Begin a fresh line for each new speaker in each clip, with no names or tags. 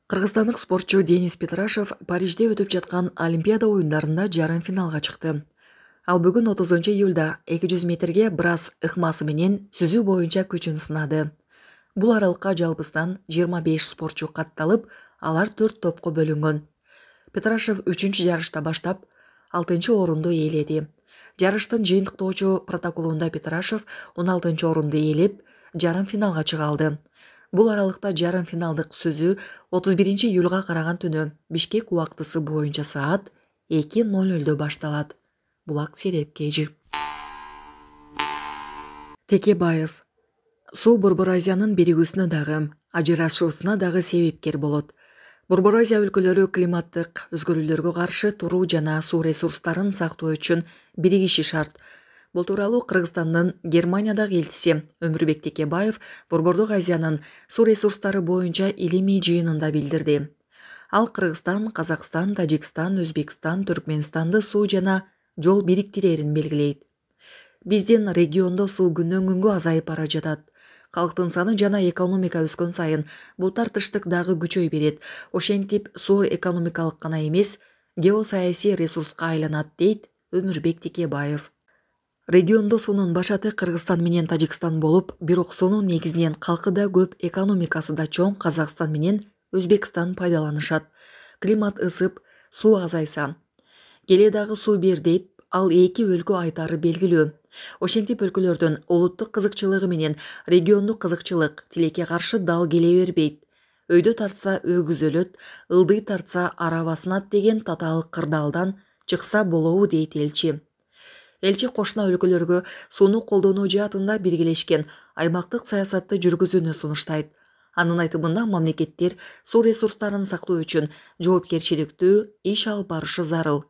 Кыргызстандык спортчу Денис Петрашев Парижде өтүп жаткан Олимпиада оюндарында жарым финалга чыкты. Ал бүгүн 30-июлда 200 метрге брас ыкмасы менен сүзүү боюнча күчүн сынады. Бул аралыкка жалпысынан 25 спортчу катталып, алар 4 топко бөлүнгөн. Петрашев 3-чү жарышта баштап 6-орунду ээледи. Жарыштын жыйынтыктоочу протоколунда Петрашев 16-орунду ээлеп, жарым финалга чыга алды. Бул аралыкта жарым финалдык сүзүү 31-июлга караган түнү Бишкек убактысы боюнча саат 2:00 башталат. Булак Сереп Кежи. Текебаев. Суу Борбор Азиянын биригүүсүнө дагы, ажырашуусуна дагы себепкер болот. Борбор Азия өлкөлөрү климаттык өзгөрүүлөргө каршы туруу жана суу ресурстарын сактоо үчүн биригиши шарт. Бул тууралуу Кыргызстандын Германиядагы элчиси Өмүрбек Текебаев Борбордук Азиянын суу ресурстары боюнча илимий жыйынында билдирди. Ал Кыргызстан, Казакстан, Тажикстан, Өзбекстан, Түркмөнстанды суу жана жол бириктирерин белгилейт. Биздин региондо суу күндөн күнгө азайып бара жатат. Калктын саны жана экономика өскөн сайын бул тартыштык дагы күчөй берет. Ошентип суу экономикалык гана эмес, геосаясий ресурска айланат, дейт Өмүрбек Текебаев. Региондо суунун башаты Кыргызстан менен Тажикстан болуп, бирок суунун негизинен калкы да көп, экономикасы да чоң Казакстан менен Өзбекстан пайдаланышат. Климат ысып, суу азайса, келе дагы суу бер деп, ал эки өлкө айтары белгилүү. Ошентип өлкөлөрдүн улуттук кызыкчылыгы менен региондук кызыкчылык тилекке каршы дал келе бербейт. Өйдө тартса өгүз өлөт, ылдый тартса араба сынат деген татаал кырдаалдан чыкса болобу, дейт элчи. Элчи кошуна өлкөлөргө сууну колдонуу жаатында биргелешкен аймактык саясатты жүргүзүүнү сунуштайт. Анын айтымында мамлекеттер суу ресурстарын сактоо үчүн жоопкерчиликтүү иш алып барышы зарыл.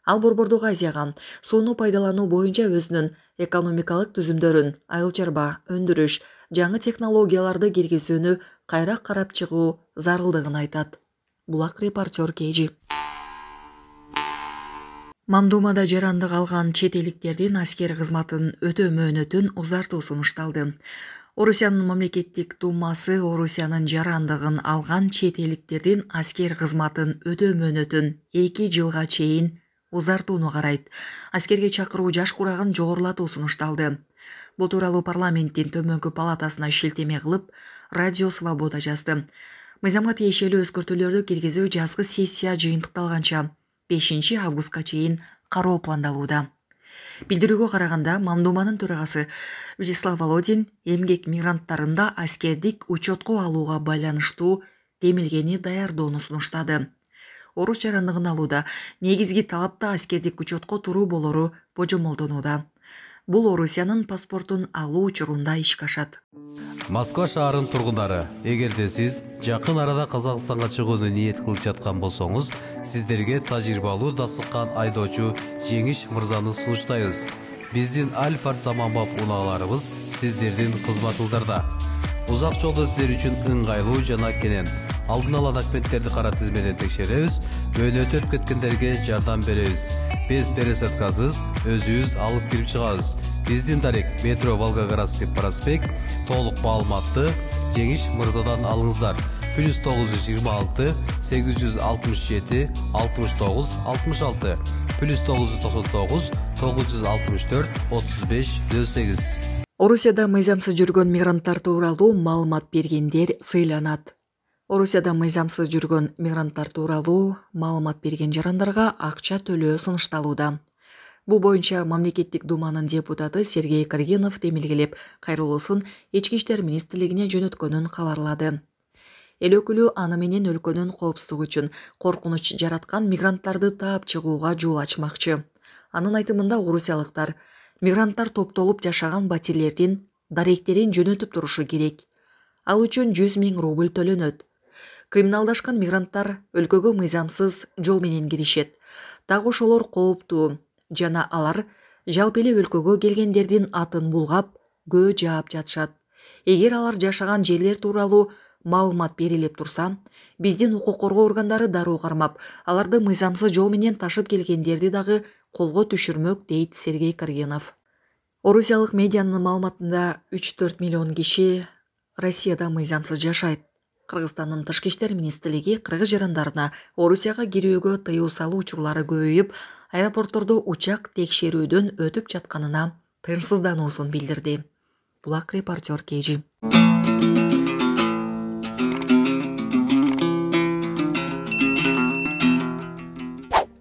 Ал Борбордук Азияга сууну пайдалануу боюнча өзүнүн экономикалык түзүмдөрүн, айыл чарба, өндүрүш, жаңы технологияларды киргизүүнү кайра карап чыгуу зарылдыгын айтат. Булак репортер Кежи. Мамдумада жарандык алган чет элдиктердин аскер кызматын өтөө мөөнөтүн узартуу сунушталды. Орусиянын мамлекеттик думасы Орусиянын жарандыгын алган чет элдиктердин аскер кызматын өтөө мөөнөтүн 2 жылга чейин узартууну карайт. Аскерге чакыруу жаш курагын жогорулатуу сунушталды. Бул тууралуу парламенттин төмөнкү палатасына шилтеме кылып, Радио Свобода жазды. Мыйзамга тиешелүү өзгөртүүлөрдү киргизүү жазгы сессия жыйынтыкталганча 5 августка чейин кароо пландалууда. Билдирүүгө караганда, Мамдуманын төрагасы Вячеслав Володин эмгек мигранттарында аскердик учетко алууга байланыштуу демилгени даярдоону сунуштады. Орус жарандыгын алууда негизги талапта аскердик учетко туруу болору божомолдонууда. Бул Орусиянын паспортун алуу учурунда ишке ашат.
Москва шаарынын тургундары, эгерде сиз жакын арада Казакстанга чыгууну ниет кылып жаткан болсоңуз, сиздерге тажрыйбалуу дасыккан айдоочу Жеңиш мырзаны сунуштайбыз. Биздин Альфард заманбап унааларыбыз сиздердин кызматыңыздарда. Узак жолдо сиздер үчүн ыңгайлуу жана кенен. Алдын ала документтерди кара тизмеден текшеребиз, мөөнөтү өтүп кеткендерге жардам беребиз. Без пересадкасыз өзүбүз алып кирип чыгабыз. Биздин дарек метро Волгоградский проспект. Толук маалыматты Жеңиш мырзадан алыңыздар. +926 867 69 66 +999 964 35 08.
Орусияда мыйзамсыз жүргөн мигранттар тууралуу маалымат бергендер сыйланат. Орусияда мыйзамсыз жүргөн мигранттар тууралуу маалымат берген жарандарга акча төлөө сунушталууда. Бул боюнча мамлекеттик думанын депутаты Сергей Каргинов демилгелеп, кайрылуусун Ички иштер министрлигине жөнөткөнүн кабарлады. Эл өкүлү аны менен өлкөнүн коопсуздугу үчүн коркунуч жараткан мигранттарды таап чыгууга жол ачмакчы. Анын айтымында орусиялыктар мигранттар топтолуп жашаган батирлердин даректерин жөнөтүп турушу керек. Ал үчүн 100 000 рубль төлөнөт. Криминалдашкан мигранттар өлкөгө мыйзамсыз жол менен киришет. Так ошолор кооптуу жана алар жалпы эле өлкөгө келгендердин атын булгап, көө жаап жатышат. Эгер алар жашаган жерлер тууралуу маалымат берилип турса, биздин укук коргоо органдары дароо кармап, аларды мыйзамсыз жол менен ташып келгендерди дагы колго түшүрмөк, дейт Сергей Каргинов. Орусиялык медианын маалыматында 3-4 миллион киши Россияда мыйзамсыз жашайт. Кыргызстандын Тышкы иштер министрлиги кыргыз жарандарына Орусияга кирүүгө тыюу салуу учурлары көбөйүп, аэропорттордо учак текшерүүдөн өтүп жатканына тынчсыздануусун билдирди. Булак репортер KG.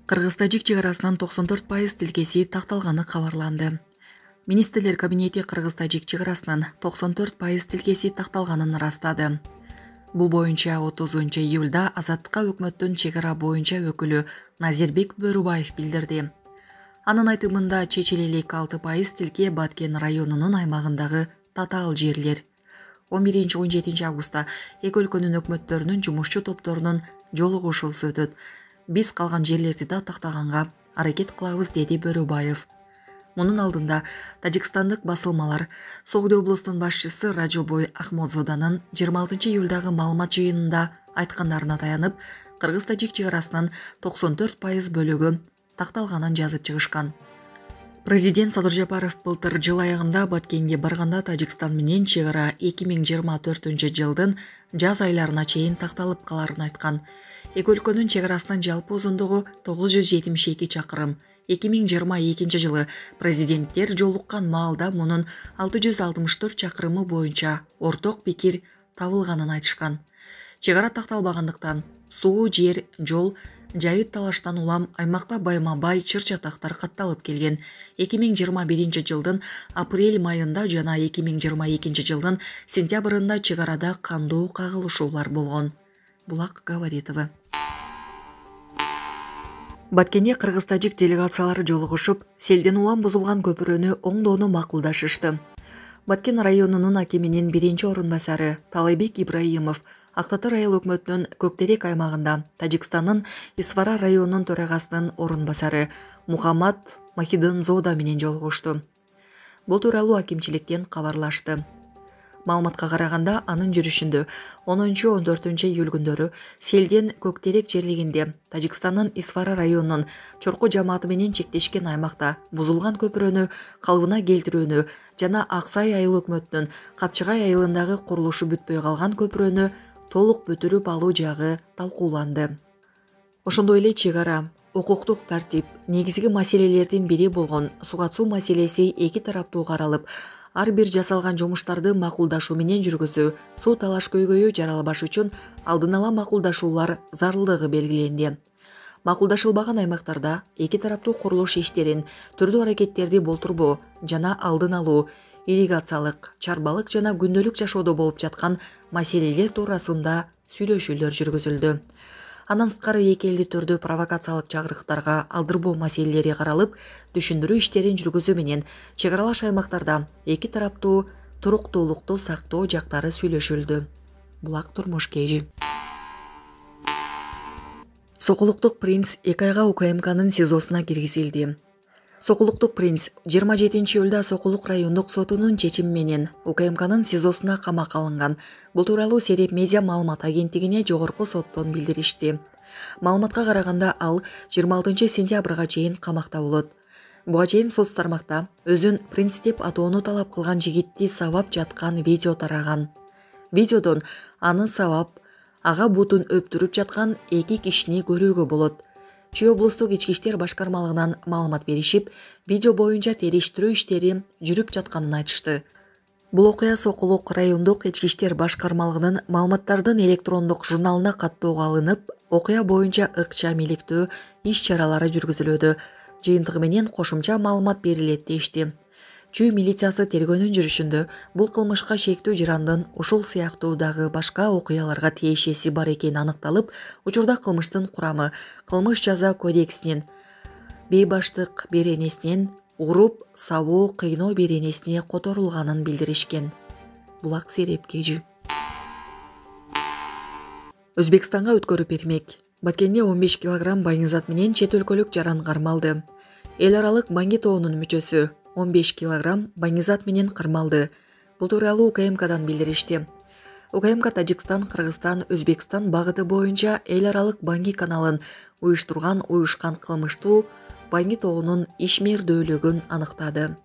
Кыргыз-тажик чек арасынан 94% тилкеси такталганы кабарланды. Министрлер кабинети Кыргыз-тажик чек арасынан 94% тилкеси такталганын ырастады. Бул боюнча 30 июлда Азаттыкка өкмөттүн чек ара боюнча өкүлү Назирбек Бөрүбаев билдирди. Анын айтымында чечилелик 6% тилке Баткен районунун аймагындагы татаал жерлер. 11-17 августта эки өлкөнүн өкмөттөрүнүн жумушчу топторунун жолугушуусу өтөт. Биз калган жерлерди да тактаганга аракет кылабыз, деди Бөрүбаев. Мунун алдында тажикстандык басылмалар Согду облустунун башчысы Ражобой Ахмодзоданын 26 июлдагы маалымат жыйынында айткандарына таянып, Кыргыз-тажик чек арасынан 94% бөлүгү такталганын жазып чыгышкан. Президент Садыр Жапаров былтыр жыл аягында Баткенге барганда Тажикстан менен чек ара 2024 жылдын жаз айларына чейин такталып каларын айткан. Эки өлкөнүн чек арасынын жалпы узундугу 972 чакырым. 2022 жылы президенттер жолуккан маалда мунун 664 чакырымы боюнча орток пикир табылганын айтышкан. Чек ара такталбагандыктан суу, жер, жол, жайыт талаштан улам аймакта байма-бай чыр-чатактар катталып келген. 2021 жылдын апрель майында жана 2022 жылдын сентябрында чек арада кандуу кагылышуулар болгон. Булак Гаваритова. Баткенде кыргыз-тажик делегациялары жолугушуп, селден улам бузулган көпүрөнү оңдоону макулдашышты. Баткен районунун акиминин биринчи орун басары Талайбек Ибраимов Ак Татар айыл өкмөтүнүн Көктерек аймагында Тажикстандын Исфара районунун төрагасынын орун басары Мухаммад Махидынзода менен жолугушту. Бул тууралуу акимчиликтен кабарлашты. Маалыматка караганда, анын жүрүшүндө 10-14 июль күндөрү селден Көктерек жерлигинде Тажикстандын Исфара районунун чорку жамааты менен чектешкен аймакта бузулган көпүрөнү калыбына келтирүүнү жана Аксай айыл өкмөтүнүн Капчыгай айылындагы курулушу бүтпөй калган көпүрөнү толук бүтүрүп алуу жагы талкууланды. Ошондой эле чек ара, укуктук тартип, негизги маселелердин бири болгон суга суу маселеси эки тараптуу каралып, ар бир жасалган жумуштарды макулдашуу менен жүргүзүү, суу талаш көйгөйү жаралбаш үчүн алдын ала макулдашуулар зарылдыгы белгиленди. Макулдашылбаган аймактарда эки тараптуу курулуш иштерин, түрдүү аракеттерди болтурбоо жана алдын алуу, ирригациялык, чарбалык жана күндөлүк жашоодо болуп жаткан маселелер туурасында сүйлөшүүлөр жүргүзүлдү. Андан сырткары эки элди түрдүү провокациялык чагырыктарга алдырбоо маселелери каралып, түшүндүрүү иштерин жүргүзүү менен чек аралаш аймактарда эки тараптуу туруктуулукту сактоо жактары сүйлөшүлдү. Булак Турмуш KG. Сокулуктук принц 2 айга УКМКнын СИЗОсуна киргизилди. Сокулуктук принц 27 июлда Сокулук райондук сотунун чечими менен УКМКнын СИЗОсуна камакка алынган. Бул тууралуу Сереп медиа маалымат агенттигине жогорку соттон билдиришти. Маалыматка караганда, ал 26 сентябрга чейин камакта болот. Буга чейин соц тармакта өзүн принц деп атоону талап кылган жигитти сабап жаткан видео тараган. Видеодон аны сабап, ага бутун өптүрүп жаткан эки кишини көрүүгө болот. Чүй облустук ички иштер башкармалыгынан маалымат беришип, видео боюнча териштирүү иштери жүрүп жатканын айтышты. Бул окуя Сокулук райондук ички иштер башкармалыгынын маалыматтардын электрондук журналына каттоого алынып, окуя боюнча ыкчам иликтөө иш-чаралары жүргүзүлүүдө. Жыйынтыгы менен кошумча маалымат берилет дешти. Чүй милициясы тергөөнүн жүрүшүндө бул кылмышка шектүү жарандын ушул сыяктуу дагы башка окуяларга тиешеси бар экени аныкталып, учурда кылмыштын курамы кылмыш жаза кодексинин бейбаштык беренесинен уруп, сабоо, кыйноо беренесине которулганын билдиришкен. Булак Сереп KG. Өзбекстанга өткөрүп бермек. Баткенде 15 килограмм байыңызат менен чет өлкөлүк жаран кармалды. Эл аралык Банги тоонун мүчөсү 15 килограмм байыңызат менен кармалды. Бул тууралуу УКМКдан билдиришти. УКМК Тажикстан, Кыргызстан, Өзбекстан багыты боюнча эл аралык Банги каналын уюшкан кылмыштуу Банги тоонун ишмердүүлүгүн аныктады.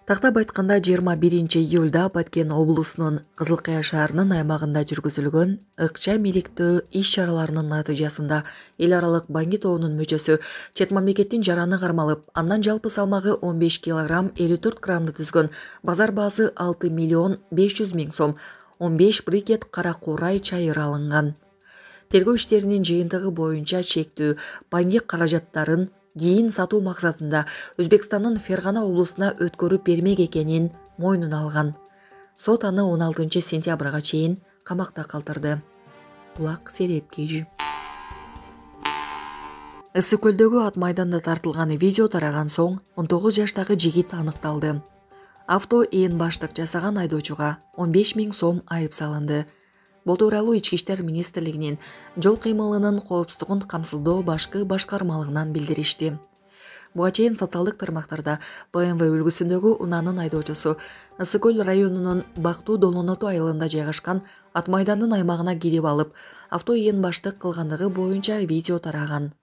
Тактап айтканда 21-июлда Баткен облусунун Кызылкая шаарынын аймагында жүргүзүлгөн ыкча миликтөө иш-чараларынын натыйжасында эл аралык Банги тобунун мүчөсү чет мамлекеттин жараны кармалып, андан жалпы салмагы 15 килограмм 54 граммды түзгөн базар баасы 6 миллион 500 миң сом 15 брикет кара куурай чайыр алынган. Тергөө иштеринин жыйынтыгы боюнча чектүү Банги каражаттарын кийин сатуу максатында Өзбекстандын Фергана облусуна өткөрүп бермек экенин мойнуна алган. Сот аны 16 сентябрга чейин камакта калтырды. Булак Сереп KG. Ысык көлдөгү ат майданда тартылган видео тараган соң 19 жаштагы жигит аныкталды. Авто ээн баштык жасаган айдоочуга 15 миң сом айып салынды. Бул тууралуу Ички иштер министрлигинин жол кыймылынын коопсуздугун камсыздоо башкы башкармалыгынан билдиришти. Буга чейин социалдык тармактарда BMW үлгүсүндөгү унаанын айдоочусу Ысык көл районунун Бактуу Долоноту айылында жайгашкан ат майдандын аймагына кирип алып, авто ээн баштык кылгандыгы боюнча видео тараган.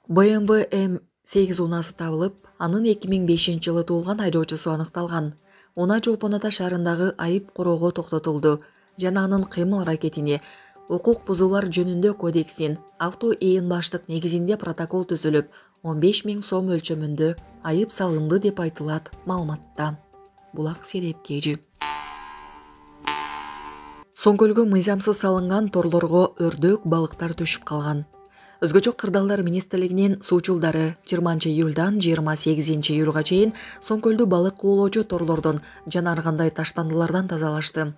BMW M8 унаасы табылып, анын 2005-жылы туулган айдоочусу аныкталган. Унаа Жолпон Ата шаарындагы айып короого токтотулду жана анын кыймыл-аракетине укук бузуулар жөнүндө кодекстин авто ээн баштык негизинде протокол түзүлүп, 15 миң сом өлчөмүндө айып салынды деп айтылат маалыматта. Булак Сереп KG. Соңкөлгө мыйзамсыз салынган торлорго өрдөк балыктар түшүп калган. Өзгөчө кырдаалдар министрлигинин суучулдары 20 июлдан 28 июлга чейин Соңкөлдү балык куулоочу торлордон жана ар кандай таштандылардан тазалашты.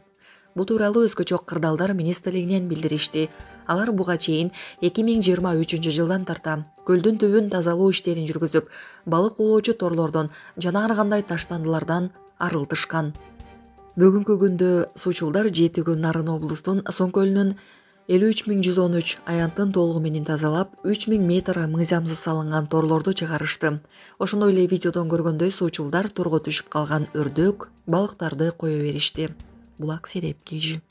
Бул тууралуу Өзгөчө кырдаалдар министрлигинен билдиришти. Алар буга чейин 2023 жылдан тарта көлдүн түбүн тазалоо иштерин жүргүзүп, балык куулоочу торлордон жана ар кандай таштандылардан арылтышкан. Бүгүнкү күндө суучулдар 7 күн Нарын облустун Соңкөлүнүн 53113 аянтын толугу менен тазалап, 3000 метр мыйзамсыз салынган торлорду чыгарышты. Ошондой эле видеодон көргөндөй суучулдар торго түшүп калган өрдөк, балыктарды кое беришти. Булак Сереп KG.